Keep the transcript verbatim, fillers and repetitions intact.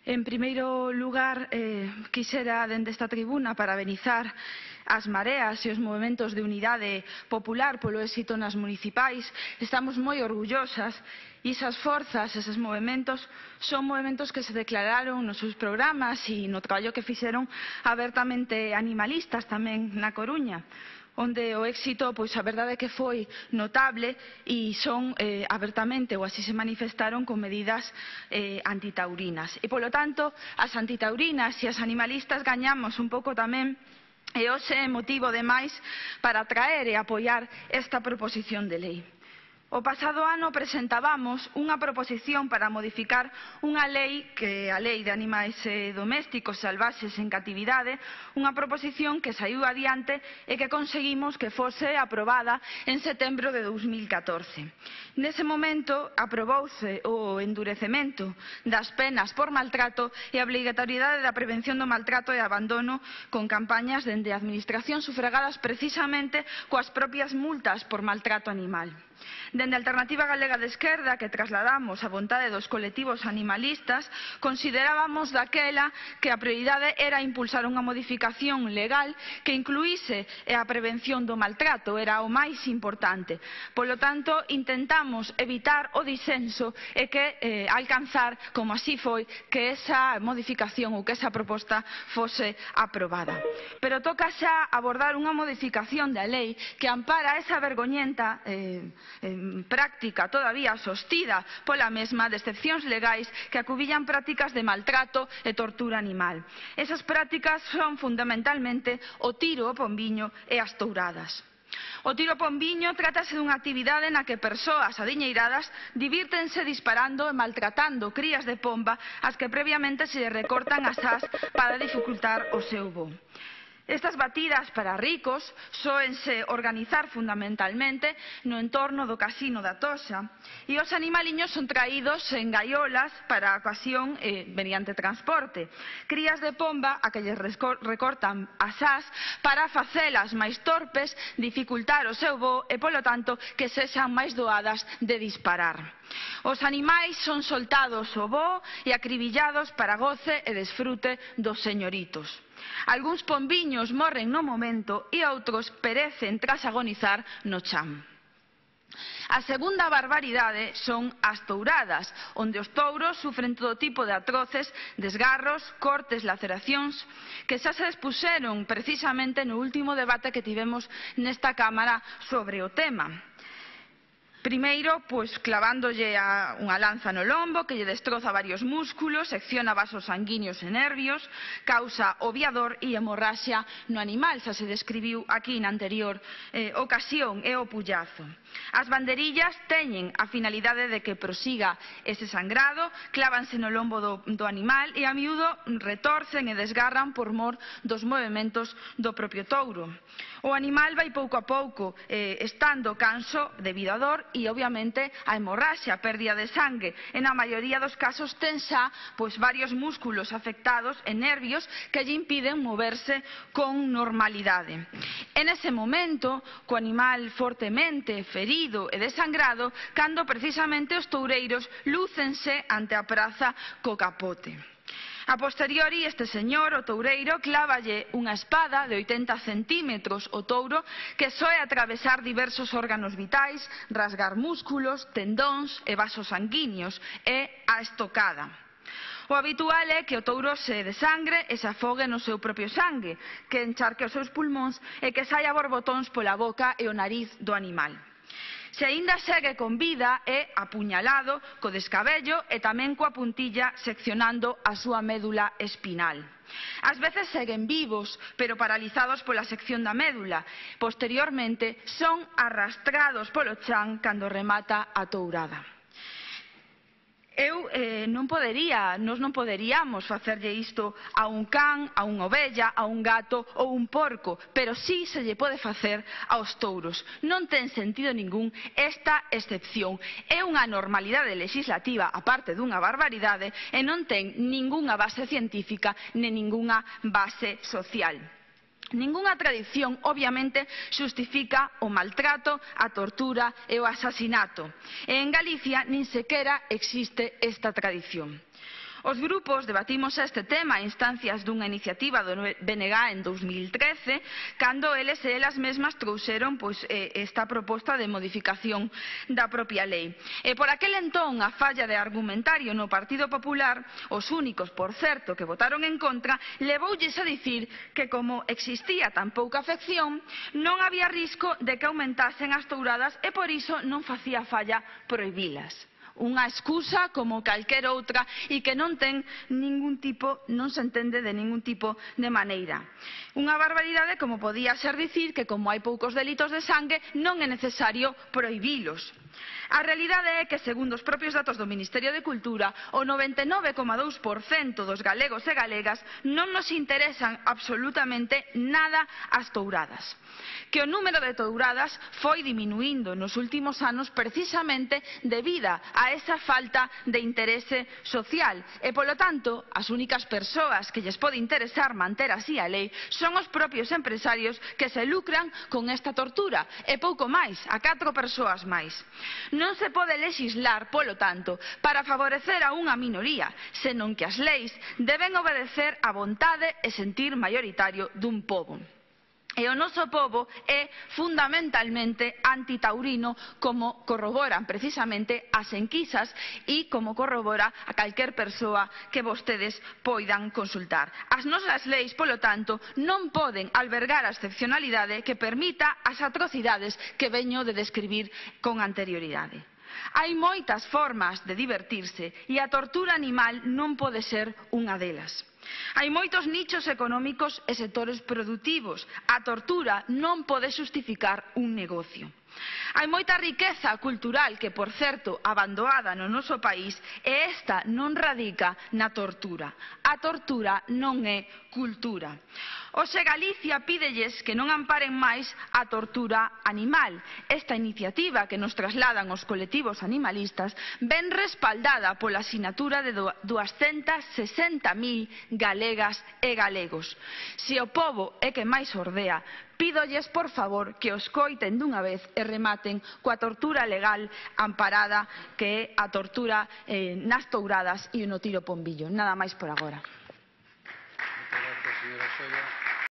En primeiro lugar, eh, quixera dende esta tribuna parabenizar as mareas e os movementos de unidade popular polo éxito nas municipais. Estamos moi orgullosas e esas forzas, eses movementos, son movementos que se declararon nos seus programas e no traballo que fixeron abertamente animalistas tamén na Coruña, onde o éxito, pois a verdade é que foi notable e son eh, abertamente, ou así se manifestaron, con medidas eh, antitaurinas. E, polo tanto, as antitaurinas e as animalistas gañamos un pouco tamén, e hoxe é motivo de máis para traer e apoiar esta proposición de lei. O pasado ano presentábamos unha proposición para modificar unha lei, que é a Lei de Animais Domésticos Salvaxes en Catividade, unha proposición que saiu adiante e que conseguimos que fose aprobada en setembro de dous mil catorce. Nese momento aprobouse o endurecemento das penas por maltrato e a obrigatoriedade da prevención do maltrato e abandono con campañas dende a Administración sufragadas precisamente coas propias multas por maltrato animal. Dende a Alternativa Galega de Esquerda, que trasladamos a vontade dos colectivos animalistas, considerábamos daquela que a prioridade era impulsar unha modificación legal que incluíse a prevención do maltrato, era o máis importante. Polo tanto, intentamos evitar o disenso e que eh, alcanzar, como así foi, que esa modificación ou que esa proposta fose aprobada. Pero toca xa abordar unha modificación da lei que ampara esa vergoñenta eh, en práctica todavía sostida pola mesma de excepcións legais que acubillan prácticas de maltrato e tortura animal. Esas prácticas son fundamentalmente o tiro ao pombiño e as touradas. O tiro ao pombiño trátase dunha actividade na que persoas adiñeiradas divírtense disparando e maltratando crías de pomba ás que previamente se lle recortan as ás para dificultar o seu voo. Estas batidas para ricos sóense organizar fundamentalmente no entorno do casino da Toxa e os animaliños son traídos en gaiolas para a ocasión eh, mediante transporte. Crías de pomba a que lles recortan as ás para facelas máis torpes, dificultar o seu voo e, polo tanto, que sexan máis doadas de disparar. Os animais son soltados ao voo e acribillados para goce e desfrute dos señoritos. Algúns pombiños morren no momento e outros perecen tras agonizar no chan. A segunda barbaridade son as touradas, onde os touros sufren todo tipo de atroces, desgarros, cortes, laceracións, que xa se expuseron precisamente no último debate que tivemos nesta Cámara sobre o tema. Primeiro, pois, clavándolle a unha lanza no lombo que lle destroza varios músculos, secciona vasos sanguíneos e nervios, causa oviador e hemorraxia no animal, xa se describiu aquí na anterior eh, ocasión, e o pullazo. As banderillas teñen a finalidade de que prosiga ese sangrado, clávanse no lombo do, do animal e a miúdo retorcen e desgarran por mor dos movementos do propio touro. O animal vai pouco a pouco eh, estando canso debido a dor e, obviamente, a hemorraxia, a pérdida de sangue. E na maioría dos casos ten xa pois, varios músculos afectados e nervios que lle impiden moverse con normalidade. En ese momento, co animal fortemente ferido e desangrado, cando precisamente os toureiros lúcense ante a praza co capote. A posteriori, este señor, o toureiro, clávalle unha espada de oitenta centímetros ao touro que soe atravesar diversos órganos vitais, rasgar músculos, tendóns e vasos sanguíneos, e a estocada. O habitual é que o touro se desangre e se afogue no seu propio sangue, que encharque os seus pulmóns e que saia borbotóns pola boca e o nariz do animal. Se aínda segue con vida é apuñalado co descabello e tamén coa puntilla seccionando a súa médula espinal. Ás veces seguen vivos, pero paralizados pola sección da médula. Posteriormente son arrastrados polo chan cando remata a tourada. Eu eh, non podería, nós non poderíamos facerlle isto a un can, a unha ovella, a un gato ou un porco, pero sí se lle pode facer aos touros. Non ten sentido ningún esta excepción. É unha normalidade legislativa, aparte dunha barbaridade, e non ten ningunha base científica nen ningunha base social. Ningunha tradición, obviamente, xustifica o maltrato, a tortura e o asasinato. E en Galicia nin sequera existe esta tradición. Os grupos debatimos este tema a instancias dunha iniciativa do B N G en dous mil trece, cando eles e elas mesmas trouxeron pois, esta proposta de modificación da propia lei. E por aquel entón, a falla de argumentario no Partido Popular, os únicos, por certo, que votaron en contra, levoulles a dicir que como existía tan pouca afección, non había risco de que aumentasen as touradas e por iso non facía falla prohibilas. Unha excusa como calquer outra e que non ten ningún tipo, non se entende de ningún tipo de maneira. Unha barbaridade como podía ser dicir que como hai poucos delitos de sangue non é necesario prohibilos. A realidade é que, segundo os propios datos do Ministerio de Cultura, o noventa e nove coma dous por cento dos galegos e galegas non nos interesan absolutamente nada as touradas. Que o número de touradas foi diminuindo nos últimos anos precisamente debido a esa falta de interese social e, polo tanto, as únicas persoas que lles pode interesar manter así a lei son os propios empresarios que se lucran con esta tortura e pouco máis, a catro persoas máis. Non se pode lexislar, polo tanto, para favorecer a unha minoría, senón que as leis deben obedecer á vontade e sentir maioritario dun pobo. E o noso pobo é fundamentalmente antitaurino, como corroboran precisamente as enquisas e como corrobora a calquer persoa que vostedes poidan consultar. As nosas leis, polo tanto, non poden albergar a excepcionalidade que permita as atrocidades que veño de describir con anterioridade. Hai moitas formas de divertirse e a tortura animal non pode ser unha delas. Hai moitos nichos económicos e sectores produtivos. A tortura non pode xustificar un negocio. Hai moita riqueza cultural que, por certo, abandonada no noso país e esta non radica na tortura. A tortura non é cultura. Hoxe Galicia pídelles que non amparen máis a tortura animal. Esta iniciativa que nos trasladan os colectivos animalistas ven respaldada pola sinatura de duascentas sesenta mil galegas e galegos. Se o pobo é que máis ordea, pídolles, por favor, que os coiten dunha vez e rematen coa tortura legal amparada que é a tortura eh, nas touradas e no tiro pombillo. Nada máis por agora. Muchas gracias, señora Solla.